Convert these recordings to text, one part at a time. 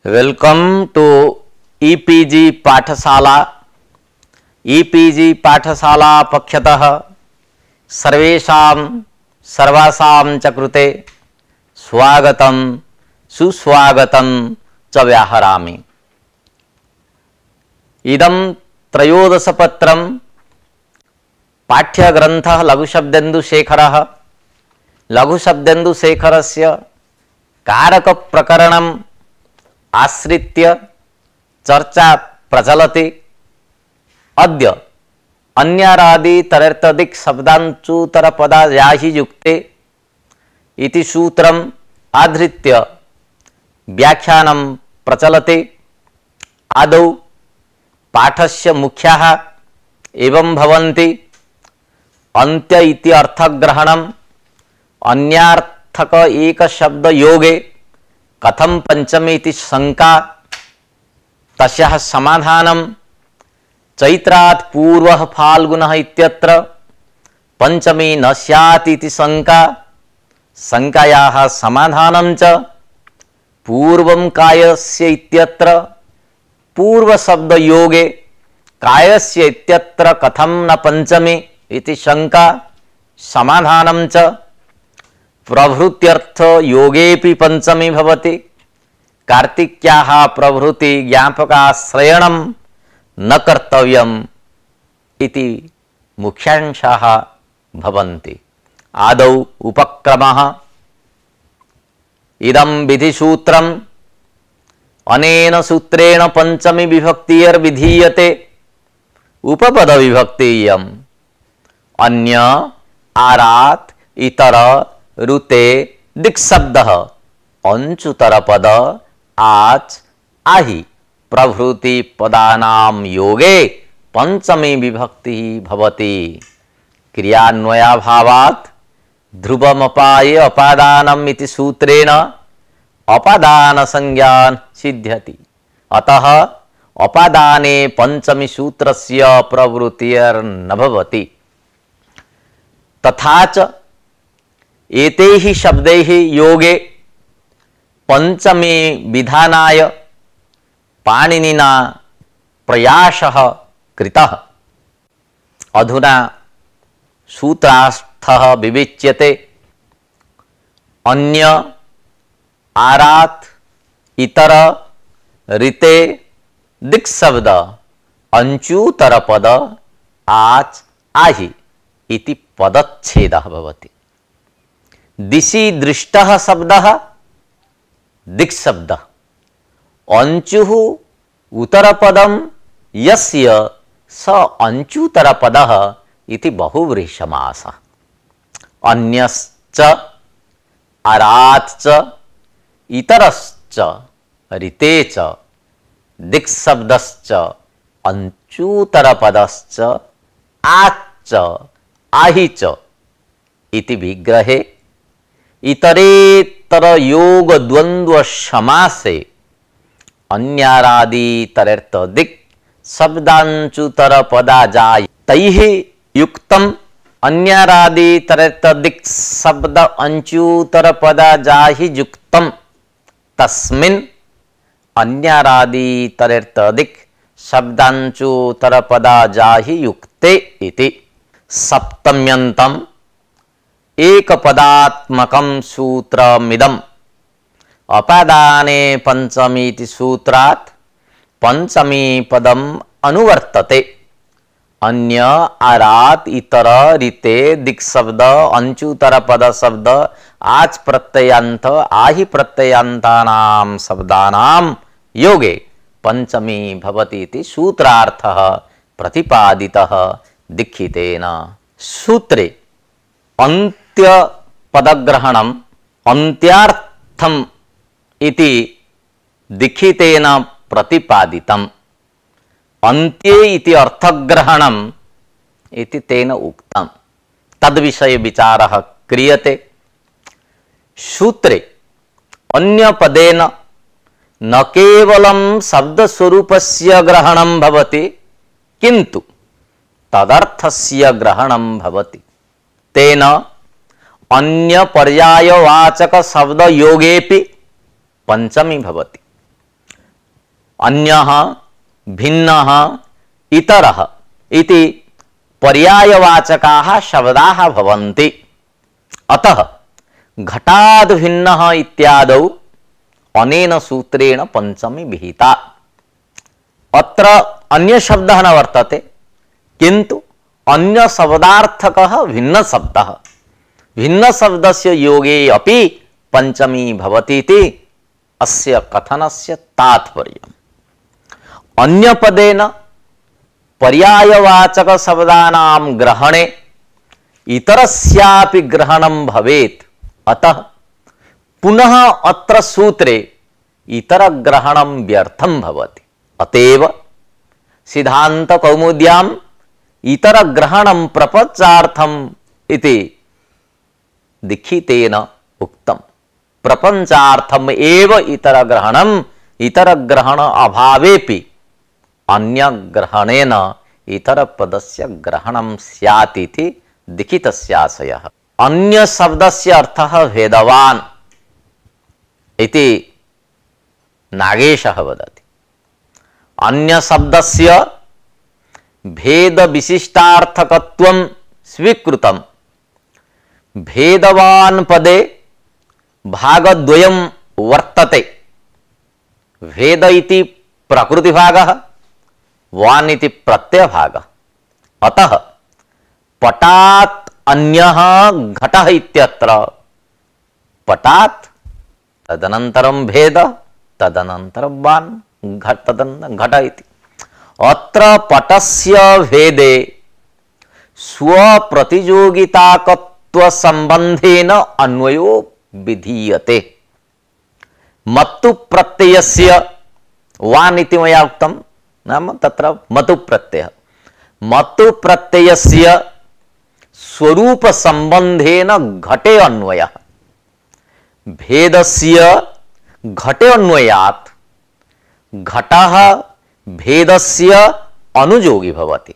Welcome two e-PG पाठशाला। E-PG पाठशाला पक्षतः सर्वासां च कृते स्वागतं सुस्वागतं च व्याहरामि। इदं त्रयोदशपत्रं पाठ्यग्रन्थः लघुशब्देन्दुशेखरः। लघुशब्देन्दुशेखरस्य कारकप्रकरणम् आश्रित्य चर्चा प्रचलति। अद्य अन्यारादि तरेर्तदिक् शब्दांचुतरपदायाहि युक्ते इति सूत्रम् आधृत्य व्याख्यानं प्रचलति। आदौ पाठस्य मुख्याः एवं भवन्ति। अन्त्य इति अर्थग्रहणम्, अन्यार्थक एक शब्द योगे कथम पंचमी इति शंका, तस्याः समाधानं, चैत्रात् पूर्वः फाल्गुनः इत्यत्र पंचमी न स्यात् इति शंका, शंकायाः समाधानं च, पूर्वं कायस्य इत्यत्र पूर्व शब्द योगे कायस्य इत्यत्र कथम न पंचमी इति शंका, समाधानं च, प्रभृत्यर्थ योगेपि पंचमी भवति, कार्तिक्याः प्रभृति ज्ञापकाश्रयणं न कर्तव्यम् इति मुख्यांशाः भवन्ति। आदौ उपक्रमः। इदं विधिसूत्रम् अनेन सूत्रेण पंचमी विभक्तिर्विधीयते। उपपद विभक्तियम् अन्य, आरात्, इतर, ऋते, दिक्शब्दः, अंचुतरपद, आच्, आहि प्रभृति पदानां योगे पंचमी विभक्ति भवति। क्रियान्वयाभावात् ध्रुवमपाये अपादानम् इति सूत्रेण अपादान संज्ञा सिद्ध्यति। अतः अपादाने पंचमी सूत्रस्य प्रवृत्तिर्न भवति। तथा च एतैः शब्दैः योगे पंचमी विधानाय पाणिनिना प्रयासः कृतः। अधुना सूत्रार्थः विवेच्यते। अन्य, आरात्, इतर, ऋते, दिक्शब्द, अंचुतरपद, आच्, आहि इति पदच्छेदः भवति। दिशि दृष्टः शब्दः दिक्शब्दः, अंचुः उत्तरपदं यस्य स अंचुतरपदः इति बहुव्रीहिसमासः। अन्यश्च, आरात् च, इतरश्च, ऋते च, दिक्शब्दश्च, अंचुतरपदश्च, आच्च, आहि च इति विग्रहे इतरेतर योग द्वंद्व समासे अन्यारादि तरेर्थ दिक् शब्दांचुतर पदाजाय तैः युक्तम अन्यारादि तरेर्थ दिक् शब्द अंचुतर पदाजाहि युक्तम तस्मिन् अन्यारादि तरेर्थ दिक् शब्दांचुतर पदाजाहि युक्ते इति। सप्तम्यन्तम् एकपदात्मकं सूत्रमिदम् अपादाने पंचमीति सूत्रात् पंचमी पदम् अनुवर्तते। अन्य, आरात्, इतर, ऋते, दिक्शब्द, अंचुतरपद शब्द, आच् प्रत्ययान्त, आहि प्रत्ययान्तानां शब्दानां योगे पंचमी भवति इति सूत्रार्थः प्रतिपादितः दीक्षितेन। सूत्रे अन्त्य पदग्रहणम् अन्त्यार्थम् इति दीक्षितेन प्रतिपादितम्। अन्त्ये इति अर्थग्रहणम् इति तेन उक्तम्। तद्विषये विचारः क्रियते। सूत्रे अन्य पदेन न केवलं शब्दस्वरूपस्य ग्रहणं भवति किन्तु तदर्थस्य ग्रहणं भवति। तेन अन्य पर्यायवाचक शब्द योगेपि पंचमी भवति। अन्यः, भिन्नः, इतरः इति पर्यायवाचकाः शब्दाः भवन्ति। अतः घटाद् भिन्नः इत्यादौ अनेन सूत्रेण पंचमी विहिता। अत्र अन्य शब्दः न वर्तते, किन्तु अन्य शब्दार्थकः भिन्न शब्दः। भिन्न शब्दस्य योगे अपि पंचमी भवति इति अस्य कथनस्य तात्पर्यम्। अन्य पदेन पर्यायवाचक शब्दानां ग्रहणे इतरस्यापि ग्रहणं भवेत्। अतः पुनः अत्र सूत्रे इतर ग्रहणं व्यर्थं भवति। अतएव सिद्धांत कौमुद्याम् इतर ग्रहणं प्रपंचार्थम् इति दीक्षितेन उक्तम्। प्रपंचार्थम् एव इतर ग्रहणम्, इतर ग्रहण अभावेपि अन्य ग्रहणेन इतर पदस्य ग्रहणं स्यात् इति दीक्षितस्य आशयः। अन्य शब्दस्य अर्थः भेदवान् इति नागेशः वदति। अन्य शब्दस्य भेद विशिष्टार्थकत्वं स्वीकृतं। भेदवान् पदे भागद्वयं वर्तते। भेद इति प्रकृतिभागः, वान् इति प्रत्ययभागः। अतः पटात् अन्यः घटः इत्यत्र पटात् तदनन्तरं भेद, तदनन्तरं वान्, घट इति। अत्र पटस्य भेदे स्वप्रतियोगिताकत्व संबंधेन अन्वयो विधीयते। मत्तु प्रत्ययस्य वान् इति मया उक्तं, नाम तत्र मतु प्रत्ययः। मतु प्रत्ययस्य स्वरूप संबंधेन घटे अन्वयः। भेदस्य घटे अन्वयात् घटः भेदस्य अनुयोगी भवति।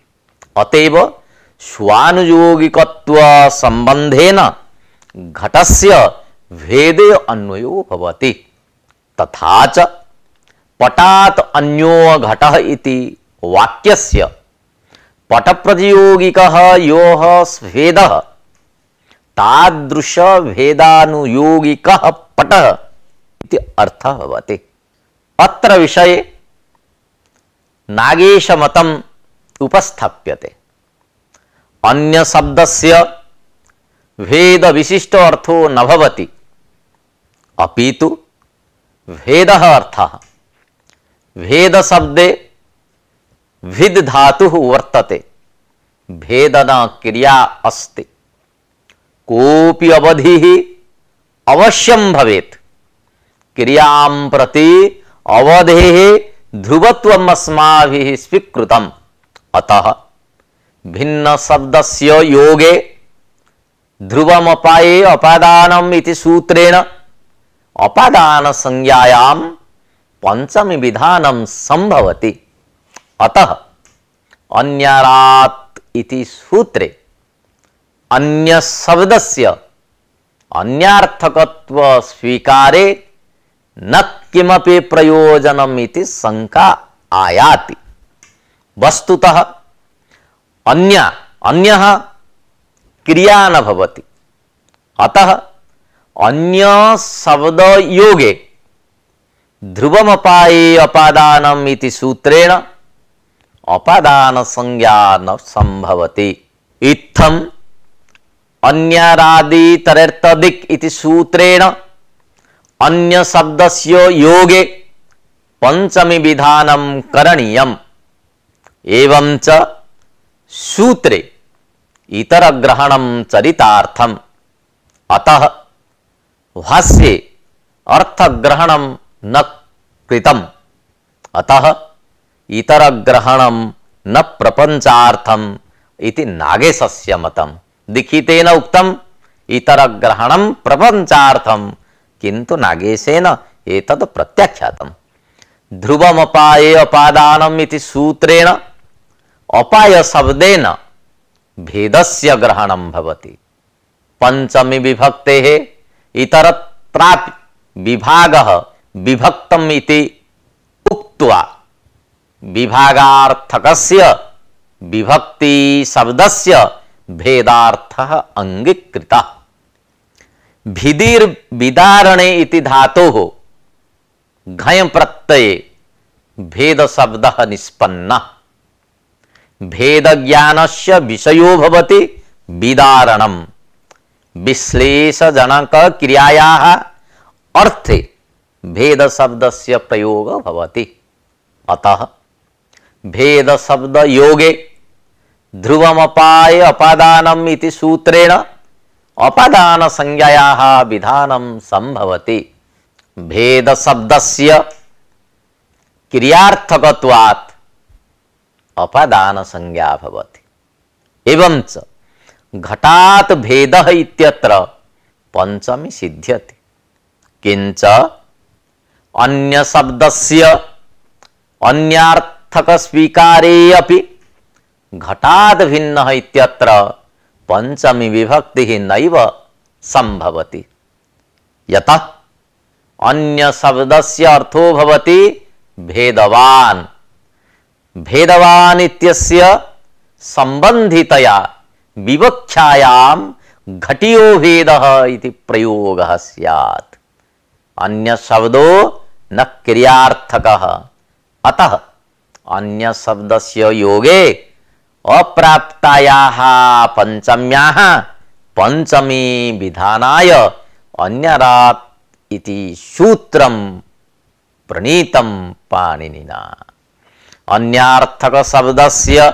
अतएव स्वानुयोगिकत्व संबंधेन घटस्य भेदे अन्वयो भवति। तथा च पटात् अन्यो घटः इति वाक्यस्य पटप्रतियोगिकः योः भेदः तादृश भेदानुयोगिकः पटः इति अर्थः भवति। अत्र विषये नागेशमतम् उपस्थाप्यते। अन्य शब्दस्य भेद विशिष्ट अर्थो न भवति, अपितु भेदः अर्थः। भेद शब्दे भिद् धातुः वर्तते, भेदना क्रिया अस्ति। कोऽपि अवधिः अवश्यं भवेत्। क्रियां प्रति अवधेः ध्रुवत्वम् अस्माभिः स्वीकृतम्। अतः भिन्न शब्दस्य योगे ध्रुवमपाये अपादानम् इति सूत्रेण अपादान संज्ञायां पंचमी विधानं संभवति। अतः अन्यारात् इति सूत्रे अन्य शब्दस्य अन्यार्थकत्व स्वीकारे न किमपि प्रयोजनम् इति शंका आयाति। वस्तुतः अन्यः क्रिया न भवति। अतः अन्य शब्द योगे ध्रुवमपाये अपादानम् इति सूत्रेण अपादान संज्ञा न संभवति। इत्थम् अन्यारादितरेर्तदिक् इति सूत्रेण अन्य शब्दस्य योगे पंचमी विधानं करणीयम्। एवं च सूत्रे इतर ग्रहणं चरितार्थम्। अतः भाष्ये अर्थग्रहणं न कृतम्। अतः इतर ग्रहणं न प्रपंचार्थम् इति नागेशस्य मतम्। दीक्षितेन उक्तम् इतर ग्रहणं प्रपंचार्थम्, किन्तु नागेशेन एतद् प्रत्याख्यातम्। ध्रुवमपाये अपादानम् इति सूत्रेण अपाय शब्देन भेदस्य ग्रहणं भवति। पंचमी विभक्तेः इतरत्रापि विभागः विभक्तम् इति उक्त्वा उक्त्वा विभागार्थकस्य विभक्ति शब्दस्य भेदार्थः अंगीकृतः। भिदिर् विदारणे इति धातोः घञ् प्रत्यये भेद शब्दः निष्पन्नः। भेद ज्ञानस्य विषयो भवति विदारणम्। विश्लेषजनक क्रियायाः अर्थे भेद शब्दस्य प्रयोगः भवति। अतः भेद शब्द योगे ध्रुवमपाय अपादानम् इति सूत्रेण अपादान संज्ञायाः विधानं संभवति। भेद शब्दस्य क्रियार्थकत्वात् अपादान संज्ञा भवति। एवंच घटात् भेदः इत्यत्र पंचमी सिद्ध्यति। किंच अन्य शब्दस्य अन्यार्थक स्वीकारे अपि घटात् भिन्नः इत्यत्र पंचमी विभक्तिः नैव संभवति। यतः अन्य शब्दस्य अर्थो भवति भेदवान्। भेदवान् इत्यस्य संबंधितया विवक्षायां घटियो भेदः इति प्रयोगः स्यात्। अन्य शब्दो न क्रियार्थकः। अतः अन्य शब्दस्य योगे अप्राप्तायाः पंचम्याः पंचमी विधानाय अन्यरात् इति सूत्रं प्रणीतं पाणिनिना। अन्यार्थक शब्दस्य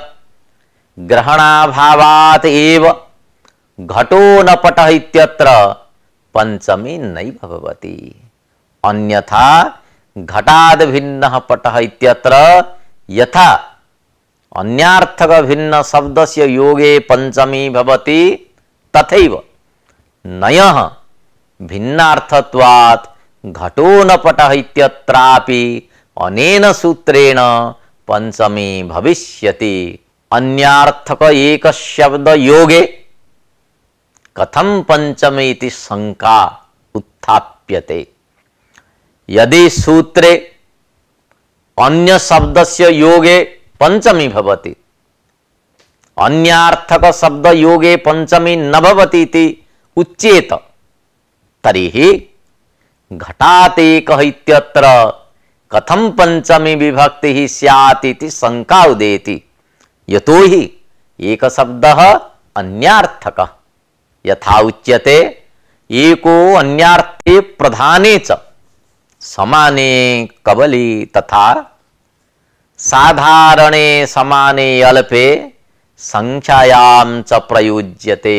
ग्रहणाभावात् एव घटो न पटः इत्यत्र पंचमी नैव भवति। अन्यथा घटाद् भिन्नः पटः इत्यत्र यथा अन्यार्थक भिन्न शब्दस्य योगे पंचमी भवति तथैव नयः भिन्नार्थत्वात् घटो न पटः इत्यत्रापि अनेन सूत्रेण पंचमी भविष्यति। अन्यार्थक एक शब्द योगे कथं पंचमी इति शंका उत्थाप्यते। यदि सूत्रे अन्य शब्दस्य योगे पंचमी भवति, अन्यार्थक शब्द योगे पंचमी न भवति इति उच्येत, तर्हि घटात् एकः इत्यत्र कथं पंचमी विभक्तिः स्यात् इति शंका उदेति। यतोहि एक शब्दः अन्यार्थकः। यथा उच्यते एको अन्यार्थे प्रधाने च समाने कबली तथा साधारणे समाने अल्पे संख्यायां च प्रयुज्यते।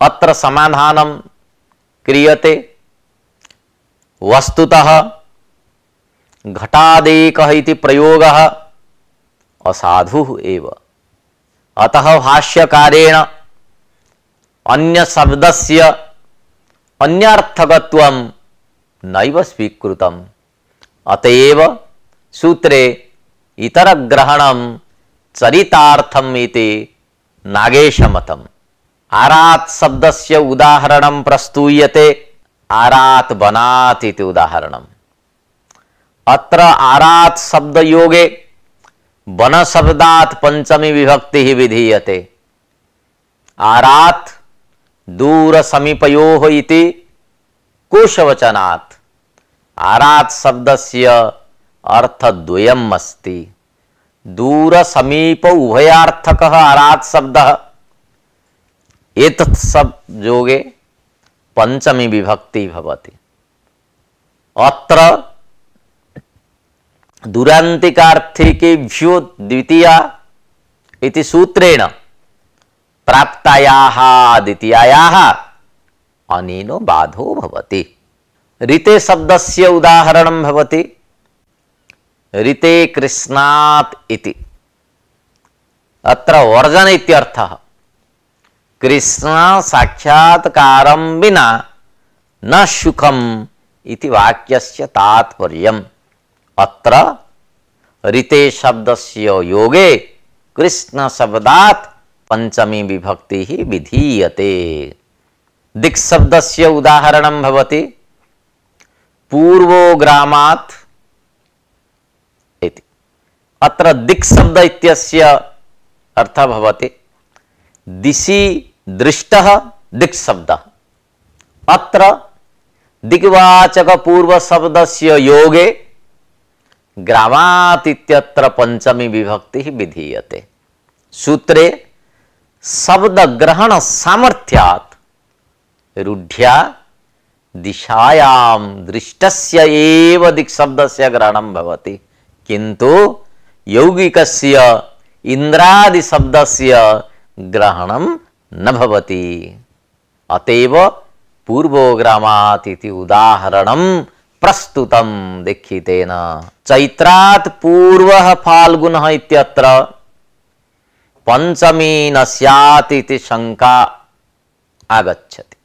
अत्र समाधानं क्रियते। वस्तुतः घटादेकः इति प्रयोगः असाधुः एव। अतः भाष्यकारेण अन्य शब्दस्य अन्यार्थकत्वं नैव स्वीकृतम्। अतएव सूत्रे इतरग्रहणं चरितार्थम् इति नागेशमतम्। आरात् शब्दस्य उदाहरणं प्रस्तूयते। आरात् बनात् इति उदाहरणम्। अत्र आरात् शब्द योगे वन शब्दात् पंचमी विभक्तिः विधीयते। आरात् दूर समीपयोः इति कोशवचनात् आरात् शब्दस्य अर्थद्वयम् अस्ति। दूर समीप उभयार्थकः आरात् शब्दः। एतत् शब्द योगे पंचमी विभक्ति भवति। अत्र दुरान्तिकार्थिकेभ्यो द्वितीया इति सूत्रेण प्राप्तायाः द्वितीयायाः अनेनो बाधो भवति। ऋते शब्दस्य उदाहरणं भवति। ऋते कृष्णात् इति। अत्र वर्जन इत्यर्थः। कृष्ण साक्षात्कारं विना न सुखम् इति वाक्यस्य तात्पर्यम्। अत्र ऋते शब्दस्य योगे कृष्ण शब्दात् पंचमी विभक्तिः विधीयते। दिक् शब्दस्य उदाहरणं भवति। पूर्वो ग्रामात् इति। अत्र दिक् शब्द इत्यस्य अर्थः भवति दिशि दृष्टः दिक् शब्दः। अत्र दिग्वाचक पूर्व शब्दस्य योगे ग्रामात् इत्यत्र पंचमी विभक्ति विधीयते। सूत्रे शब्द ग्रहण सामर्थ्यात् रूढ़्या दिशायां दृष्टस्य एव दिक् शब्दस्य ग्रहणं भवति, किन्तु यौगिकस्य इन्द्रादि शब्दस्य ग्रहणं न भवति। अतएव पूर्वोग्रामात् इति उदाहरणं प्रस्तुतं दीक्षितेन। चैत्रात् पूर्वः फाल्गुनः इत्यत्र पंचमी न स्यात् इति शंका आगच्छति।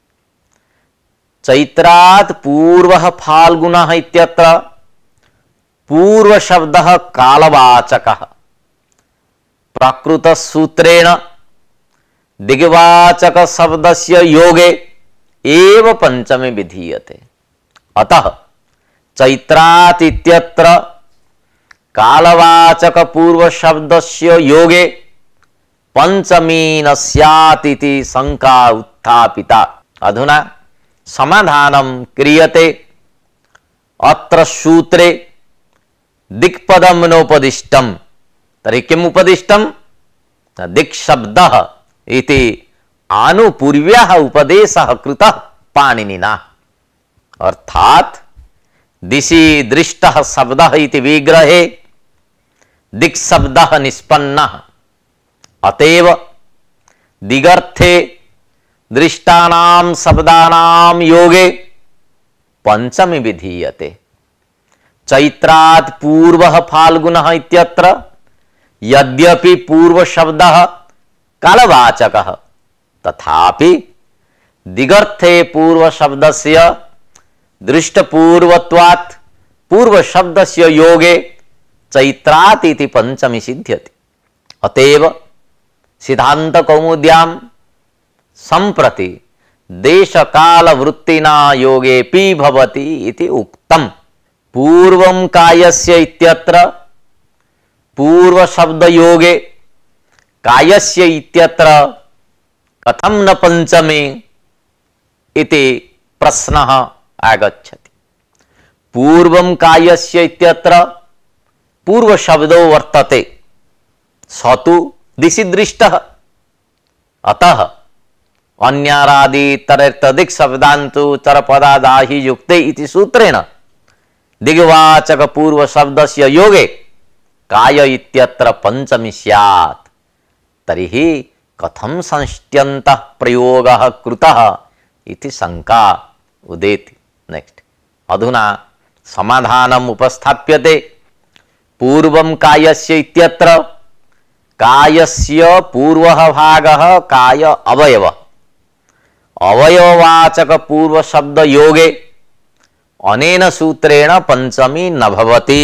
चैत्रात् पूर्वः फाल्गुनः इत्यत्र पूर्व शब्दः कालवाचकः। प्राकृत सूत्रेण दिग्वाचक शब्दस्य योगे एव पंचमी विधीयते। अतः चैत्रात् इत्यत्र कालवाचक पूर्व शब्दस्य योगे पंचमी न स्यात् इति शंका उत्थापिता। अधुना समाधानं क्रियते। अत्र सूत्रे दिक्पदं नोपदिष्टं, तर्हि किम् उपदिष्टं? दिक् शब्दः इति आनुपूर्व्यः उपदेशः कृतः पाणिनिना। अर्थात् दिशि दृष्टः शब्दः इति विग्रहे दिक् शब्दः निष्पन्नः। अतएव दिगर्थे दृष्टानां शब्दानां योगे पंचमी विधीयते। चैत्रात् पूर्वः फाल्गुनः इत्यत्र यद्यपि पूर्व शब्दः कालवाचकः, तथापि दिगर्थे पूर्व शब्दस्य दृष्टपूर्वत्वात् पूर्व शब्दस्य योगे चैत्रात् इति पंचमी सिद्ध्यति। अतएव सिद्धांत कौमुद्यां संप्रति देशकाल वृत्तिना योगेपि भवति इति उक्तम्। पूर्वं कायस्य इत्यत्र पूर्व शब्द योगे कायस्य इत्यत्र कथं न पंचमी इति प्रश्नः आगच्छति। पूर्वं कायस्य इत्यत्र पूर्व शब्दो वर्तते, स तु दिशि दृष्टः। अतः अन्यारादि तदिक् शब्दान्तु चरपदादाहि युक्ते इति सूत्रेण दिग्वाचक पूर्व शब्दस्य योगे काय इत्यत्र पंचमी स्यात्। तर्हि कथं संष्ट्यन्तः प्रयोगः कृतः इति शंका उदेति। नेक्स्ट, अधुना समाधानम् उपस्थाप्यते। पूर्वं कायस्य इत्यत्र कायस्य पूर्वः भागः काय अवयव, अवयववाचक पूर्व शब्द योगे अनेन सूत्रेण पंचमी न भवति।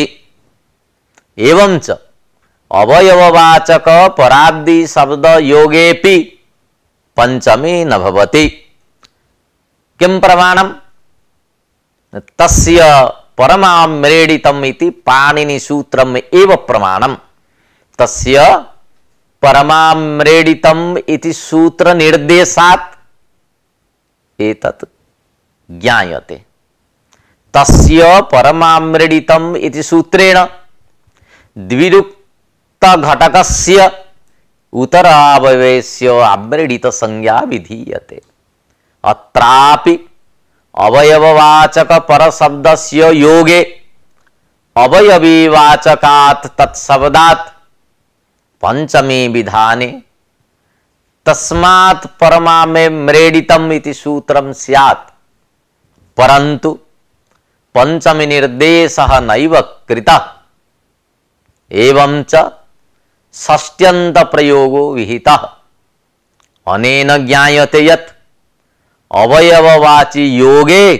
एवंच अवयववाचक पराब्दि शब्द योगेपि पंचमी न भवति। किं प्रमाणं? तस्य परमाम्रेडितम् इति पाणिनि सूत्रम् एव प्रमाणं। तस्य परमाम्रेडितम् इति सूत्र निर्देशात् एतत् ज्ञायते। तस्य परमाम्रेडितम् इति सूत्रेण द्विरुक्त घटकस्य उतरावयवस्य आम्रेडित संज्ञा विधीयते। अत्रापि अवयववाचक परशब्दस्य योगे अवयवीवाचकात् तत्शब्दात् पंचमी विधाने तस्मात् परमाम्रेडितम् इति सूत्रं स्यात्। परन्तु पंचमी निर्देशः नैव कृतः। एवंच षष्ट्यन्त प्रयोगो विहितः। अनेन ज्ञायते यत् अवयववाची योगे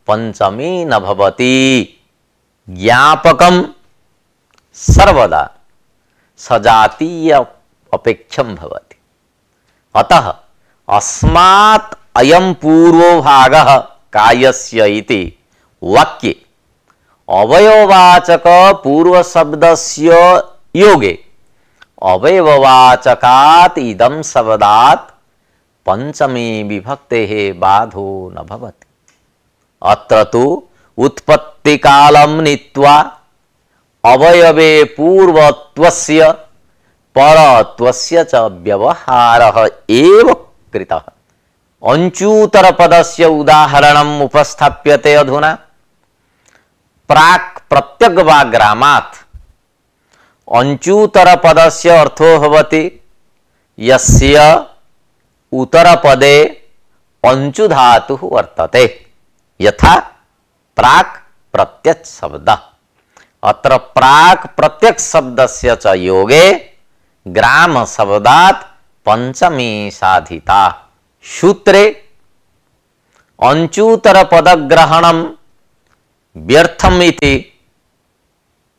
पंचमी न भवति। ज्ञापकं सर्वदा सजातीय अपेक्षं भवति। अतः अस्मात् अयं पूर्वो भागः कायस्य इति वाक्ये अवयववाचक पूर्व शब्दस्य योगे अवयववाचकात् इदं शब्दात् पंचमी विभक्तेः बाधो न भवति। अत्र तु उत्पत्ति कालं नीत्वा अवयवे पूर्वत्वस्य परत्वस्य च व्यवहारः एव कृतः। अंचूतर पदस्य उदाहरणम् उपस्थाप्यते अधुना। प्राक् प्रत्यग्वाग्रामात् अंचूतर पदस्य अर्थो भवति यस्य उत्तरपदे अंचु धातुः वर्तते, यथा प्राक् प्रत्यक् शब्दः। अत्र प्राक् प्रत्यक् शब्दस्य च योगे ग्राम शब्दात् पंचमी साधिता। सूत्रे अंचूतर पदग्रहणं व्यर्थम् इति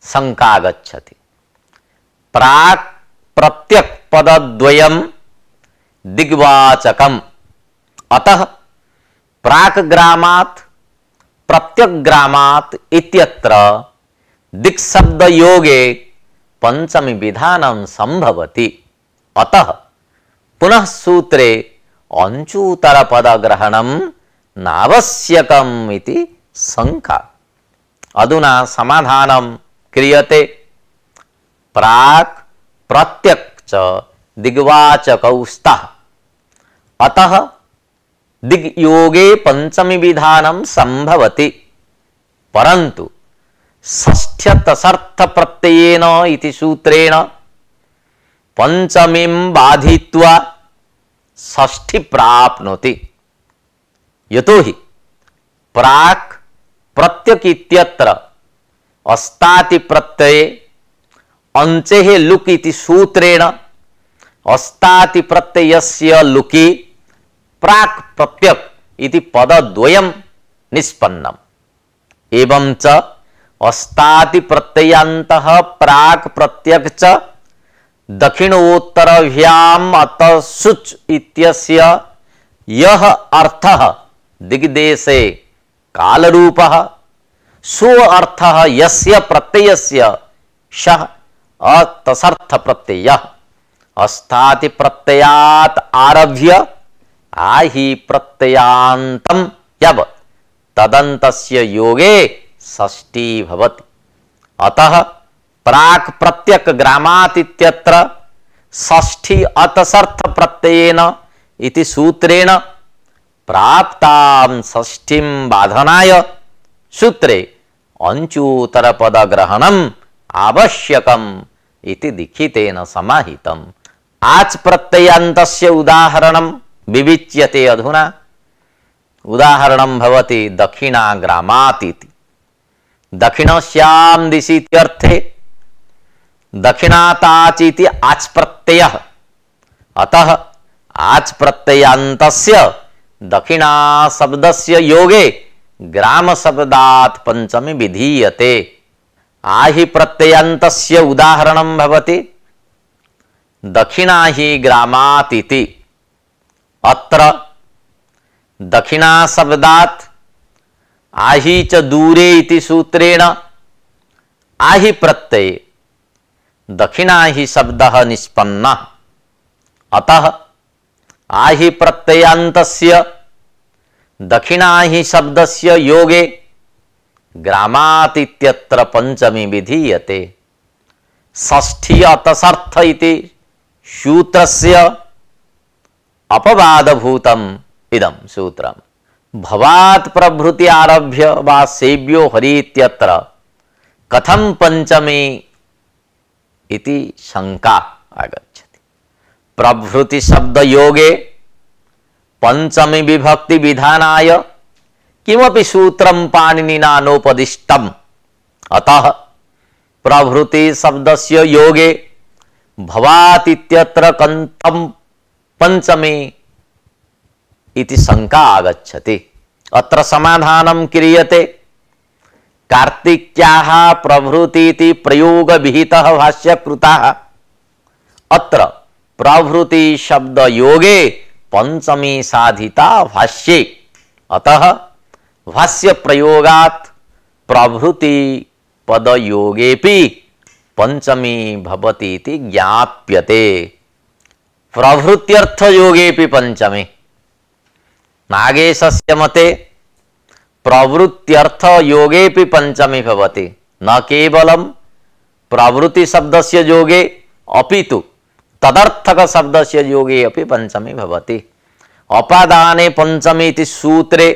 शंका गच्छति। प्राक् प्रत्यक् पदद्वयं दिग्वाचकम्, अतः प्राक् ग्रामात् प्रत्यक् ग्रामात् इत्यत्र दिक्शब्द योगे पंचमी विधानं संभवति। अतः पुनः सूत्रे अंचूतर पदग्रहणं नावश्यकम् इति शंका। अधुना समाधानं क्रियते। प्राक् प्रत्यक् च दिग्वाचकौ स्तः, अतः दिग्योगे पंचमी विधानं संभवति। परन्तु षष्ठ्यतसर्थ प्रत्ययेन इति सूत्रेण पंचमीं बाधित्वा षष्ठी प्राप्नोति। यतोहि प्राक् प्रत्यक् इत्यत्र अस्ताति प्रत्यये अंचेः लुक् इति सूत्रेण अस्ताति प्रत्ययस्य लुकि प्राक् प्रत्यक् इति पदद्वयं निष्पन्नम्। एवं च अस्ताति प्रत्ययान्तः प्राक् प्रत्यक् च दक्षिणोत्तरभ्याम् अतः शुच् इत्यस्य यः अर्थः दिग्देशे कालरूपः, सो अर्थः यस्य प्रत्ययस्य सः अतसर्थ प्रत्ययः। अस्ताति प्रत्ययात् आरभ्य आहि प्रत्ययान्तं यावत् तदन्तस्य योगे षष्ठी भवति। अतः प्राक् प्रत्यक् ग्रामात् इत्यत्र षष्ठी अतसर्थ प्रत्ययेन इति सूत्रेण प्राप्तां षष्ठीं बाधनाय सूत्रे अंचूतर पदग्रहणम् आवश्यकम् इति दीक्षितेन समाहितम्। आच् प्रत्ययान्तस्य उदाहरणं विविच्यते अधुना। उदाहरणं भवति दक्षिणाग्रामात् इति। दक्षिणस्यां दिशि इत्यर्थे दक्षिणाताच् इति आच् प्रत्ययः, अतः आच् प्रत्ययान्तस्य दक्षिणा शब्दस्य योगे ग्राम शब्दात् पंचमी विधीयते। आहि प्रत्ययान्तस्य उदाहरणं भवति दक्षिणाहि ग्रामात् इति। अत्र दक्षिणा शब्दात् आहि च दूरे इति सूत्रेण आहि प्रत्यये दक्षिणाहि शब्दः निष्पन्नः। अतः आहि प्रत्ययान्तस्य दक्षिणाहि शब्दस्य योगे ग्रामात् इत्यत्र पंचमी विधीयते। षष्ठी अतसर्थ इति सूत्रस्य अपवादभूतम् इदं सूत्रम्। भवात् प्रभृति आरभ्य वा सेव्यो हरि इत्यत्र कथं पंचमी इति शंका आगच्छति। प्रभृति शब्द योगे पंचमी विभक्ति विधानाय किमपि सूत्रं पाणिनिना नोपदिष्टम्। अतः प्रभृति शब्दस्य योगे भवात् इत्यत्र कथं पंचमी इति शंका आगच्छति। अत्र समाधानं क्रियते। कार्तिक्याः प्रभृति इति प्रयोग विहितः भाष्यकृतः। अत्र प्रभृति शब्द योगे पंचमी साधिता भाष्ये। अतः भाष्य प्रयोगात् प्रभृति पद योगेपि पंचमी भवति इति ज्ञाप्यते। प्रभृत्यर्थ योगेपि पंचमी। नागेशस्य मते प्रवृत्त्यर्थ योगेपि पंचमी भवति, न केवलं प्रवृत्ति शब्दस्य योगे अपितु तदर्थक शब्दस्य योगे अपि पंचमी भवति। अपादाने पंचमी इति सूत्रे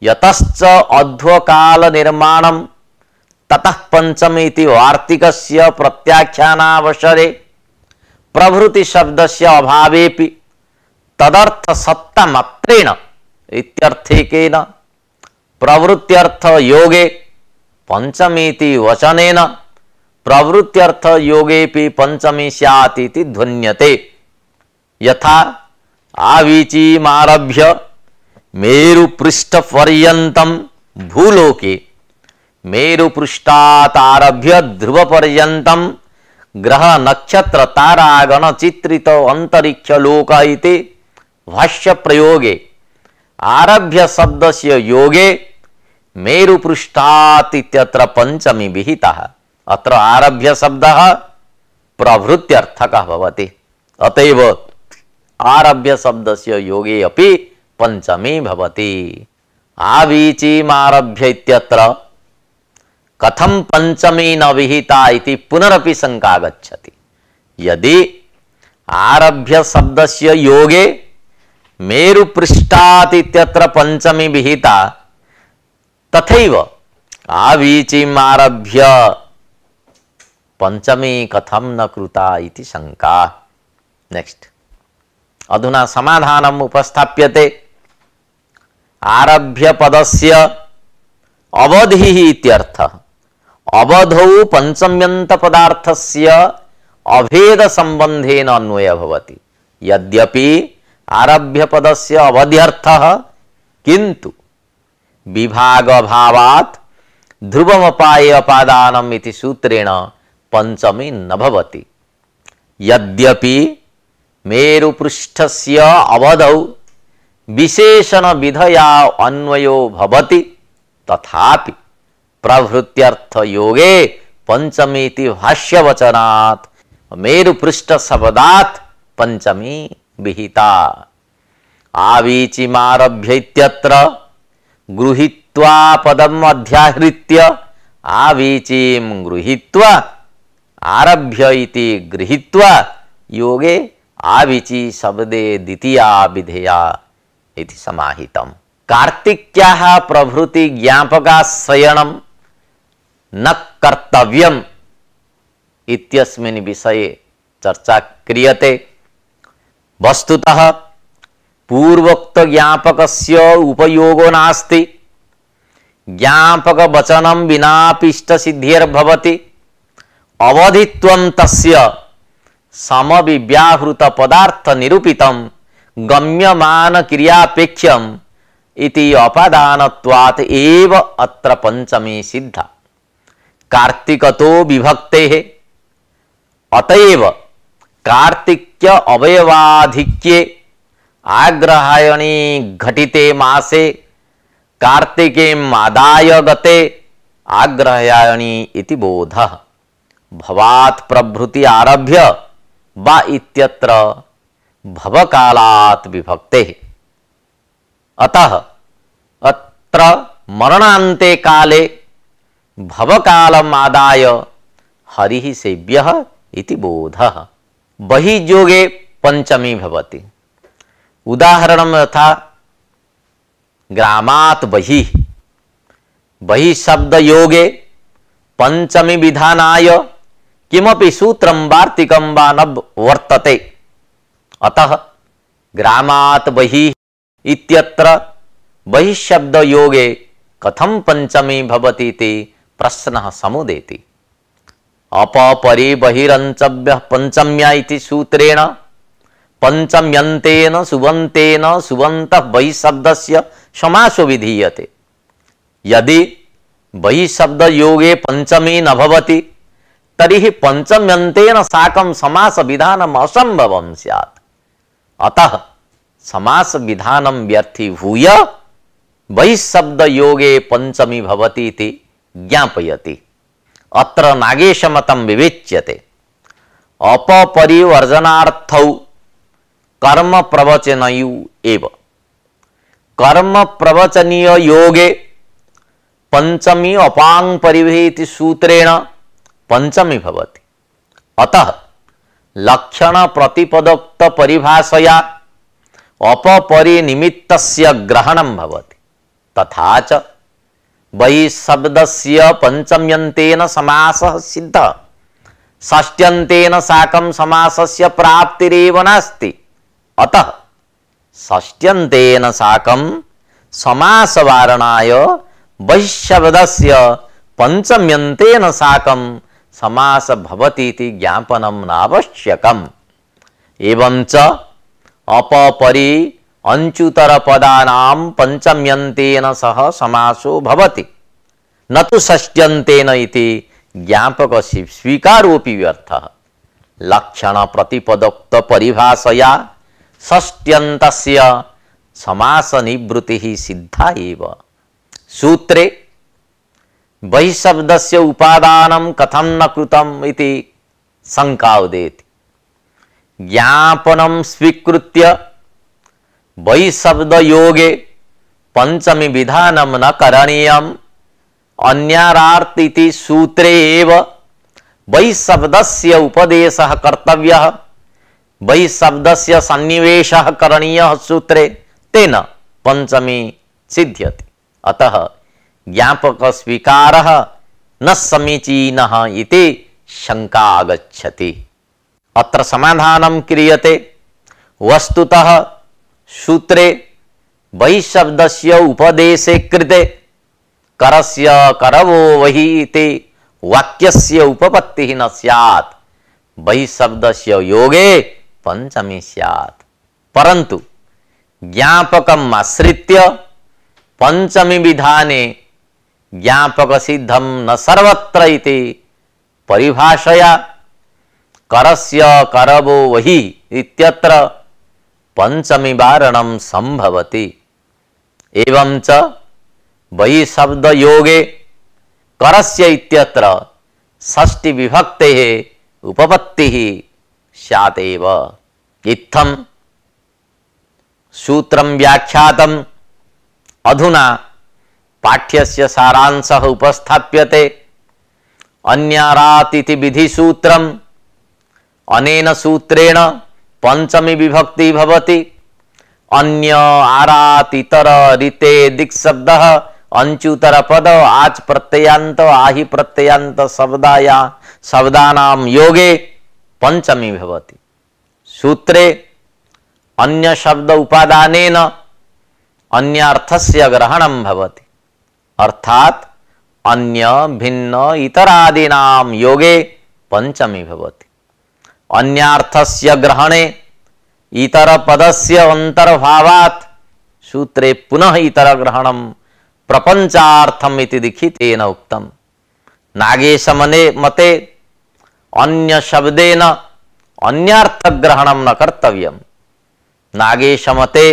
यतश्च अध्वकाल निर्माणं ततः पंचमी इति वार्तिकस्य प्रत्याख्यानावसरे प्रभृति शब्दस्य अभावेपि तदर्थ सत्ता मात्रेण इत्यर्थेकेन प्रवृत्त्यर्थ योगे पंचमी इति वचनेन प्रवृत्त्यर्थ योगेपि पंचमी स्यात् इति ध्वन्यते। यथा आवीचीमारभ्य मेरुपृष्ठपर्यन्तं भूलोके मेरुपृष्ठात् आरभ्य ध्रुवपर्यन्तं ग्रह नक्षत्र तारागण चित्रित अंतरिक्ष लोक इति भाष्य प्रयोगे आरभ्य शब्दस्य योगे मेरुपृष्ठात् इत्यत्र पंचमी विहितः। अत्र आरभ्य शब्दः प्रभृत्यर्थकः भवति। अतएव आरभ्य शब्दस्य योगे अपि पंचमी भवति। आवीचीमारभ्य इत्यत्र कथं पंचमी न विहिता इति पुनरपि शंका गच्छति। यदि आरभ्य शब्दस्य योगे मेरुपृष्ठात् इत्यत्र पंचमी विहिता तथैव आवीचीमारभ्य पंचमी कथं न कृता इति शंका। नेक्स्ट अधुना समाधानम् उपस्थाप्यते। आरभ्य पदस्य अवधिः इत्यर्थः। अवधौ पंचम्यन्त पदार्थस्य अभेद संबंधेन अन्वय भवति। यद्यपि आरभ्य पदस्य अवध्यर्थः किंतु विभाग भावात् ध्रुवमपाये अपादानम् इति सूत्रेण पंचमी न भवति। यद्यपि मेरुपृष्ठस्य अवधौ विशेषण विधया अन्वयो भवति तथापि प्रभृत्यर्थ योगे पंचमी इति भाष्यवचनात् मेरुपृष्ठ शब्दात् पंचमी विहिता। आवीचीमारभ्य इत्यत्र गृहीत्वा पदम् अध्याहृत्य आवीचीं गृहीत्वा आरभ्य इति गृहीत्वा योगे आवीची शब्दे द्वितीया विधेया इति समाहितम्। कार्तिक्याः प्रभृति ज्ञापकाश्रयणं न कर्तव्यम् इत्यस्मिन् विषये चर्चा क्रियते। वस्तुतः पूर्वोक्त ज्ञापकस्य उपयोगो नास्ति। ज्ञापक वचनं विनापि इष्टसिद्धिर्भवति। अवधित्वं तस्य समविव्याहृत पदार्थ निरूपितं गम्यमान क्रियापेक्ष्यम् इति अपादानत्वात् एव अत्र पंचमी सिद्धा। कार्तिकतो विभक्तेः अतएव कार्तिक्य अवयवाधिक्ये आग्रहायणी घटिते मासे कार्तिकीम् आदाय गते आग्रहायणी इति बोधः। भवात् प्रभृति आरभ्य वा इत्यत्र भवकालात् विभक्तेः। अतः अत्र मरणान्ते काले भवकालम् आदाय हरिः सेव्यः इति बोधः। बहिर्योगे पंचमी भवति। उदाहरणं यथा ग्रामात् बहिः। बहिः शब्द योगे पंचमी विधानाय किमपि सूत्रं वार्तिकं वा न वर्तते। अतः ग्रामात् बहिः इत्यत्र बहिः शब्द योगे कथं पंचमी भवति इति प्रश्नः समुदेति। अपपरि बहिरंचव्यः पंचम्या इति सूत्रेण पंचम्यन्तेन सुबन्तेन सुबन्तः बहिः शब्दस्य समासो विधीयते। यदि बहिः शब्द योगे पंचमी न भवति तर्हि पंचम्यन्तेन साकं समास विधानम् असंभवं स्यात्। अतः समास विधानं व्यर्थीभूय बहिः शब्द योगे पंचमी भवति इति ज्ञापयति। अत्र नागेशमतं विवेच्यते अपपरिवर्जनार्थौ कर्म प्रवचनयु एव। कर्म प्रवचनीय योगे पंचमी अपांग परिभेति सूत्रेण पंचमी भवति। अतः लक्षण प्रतिपदोक्त परिभाषया अपरिनिमित्तस्य ग्रहणं भवति। तथा च वै शब्दस्य पंचम्यन्तेन समासः सिद्धः, षष्ट्यन्तेन साकं समासस्य प्राप्तिरेव नास्ति। अतः षष्ट्यन्तेन साकं समासवारणाय वैशब्दस्य पंचम्यन्तेन साकं समास भवति इति ज्ञापनं नावश्यकम्। एवं च अपपरि अंचुतर पदानां पंचम्यन्तेन सह समासो भवति, न तु षष्ट्यन्तेन इति ज्ञापक स्वीकारोऽपि व्यर्थः। लक्षण प्रतिपदोक्त परिभाषया षष्ट्यन्तस्य समास निवृत्तिः सिद्धा एव। सूत्रे बहिशब्दस्य उपादानं कथं न कृतम् इति शंका उदेति। ज्ञापनं स्वीकृत्य बहिशब्द योगे पंचमी विधानं न करणीयम्। अन्यारार्थ इति सूत्रे एव बहिशब्दस्य उपदेशः कर्तव्यः, बहिशब्दस्य सन्निवेशः करणीयः सूत्रे, तेन पंचमी सिद्ध्यति। अतः ज्ञापक स्वीकारः न समीचीनः इति शंका आगच्छति। अत्र समाधानं क्रियते। वस्तुतः सूत्रे बहिशब्दस्य उपदेशे कृते करस्य करवो वहि इति वाक्यस्य उपपत्तिः न स्यात्, बहिशब्दस्य योगे पंचमी स्यात्। परन्तु ज्ञापकम् आश्रित्य पंचमी विधाने ज्ञापक सिद्धं न सर्वत्र इति परिभाषया करस्य करवो वहि इत्यत्र पंचमी वारणं संभवति। एवं च बहिशब्द योगे करस्य इत्यत्र षष्ठी विभक्तेः उपपत्तिः स्यात् एव। इत्थं सूत्रं व्याख्यातम्। अधुना पाठ्यस्य सारांशः उपस्थाप्यते। अन्यारात् इति विधिसूत्रम्। अनेन सूत्रेण पंचमी विभक्ति भवति। अन्य आरात् इतर ऋते दिक्शब्दः अंचुतर पद आच प्रत्ययान्त आहि प्रत्ययान्त शब्दानां योगे पंचमी भवति। सूत्रे अन्य शब्द उपादानेन अन्यार्थस्य ग्रहणं भवति। अर्थात् अन्य भिन्न इतरादीनां योगे पंचमी भवति। अन्यार्थस्य ग्रहणे इतर पदस्य अंतर्भावात् सूत्रे पुनः इतर ग्रहणं प्रपंचार्थम इति लिखितेन उक्तम्। नागेश मते अन्य शब्देन अन्यार्थ ग्रहणं न कर्तव्यम्। नागेश मते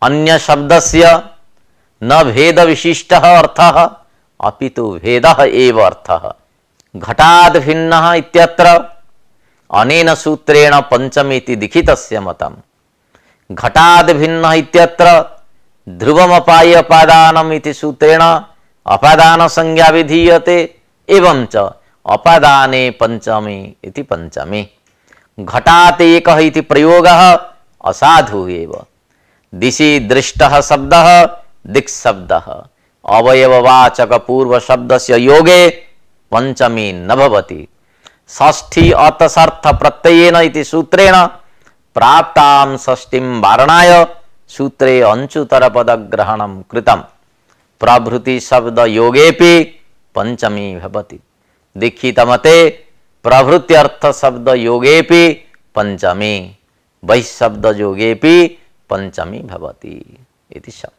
अन्य शब्दस्य न भेद विशिष्टः अर्थः अपितु भेदः एव अर्थः। घटाद् भिन्नः इत्यत्र अनेन सूत्रेण पंचमी इति लिखितस्य मतम्। घटाद् भिन्नः इत्यत्र ध्रुवमपाय अपादानम् इति सूत्रेण अपादान संज्ञा विधीयते। एवं च अपादाने पंचमी इति पंचमी। घटात् एकः इति प्रयोगः असाधु एव। दिशि दृष्टः शब्दः दिक्शब्दः अवयववाचक पूर्व शब्दस्य योगे पंचमी न भवति। षष्ठी अतसर्थ प्रत्ययेन इति सूत्रेण प्राप्तां षष्ठीं वारणाय सूत्रे अंचुतर पद ग्रहणं कृतम्। प्रभृति शब्द योगेपि पंचमी भवति। दीक्षितमते प्रभृत्यर्थ शब्द योगेपि पंचमी, बहिशब्द योगेपि पंचमी भवति इति शब्द।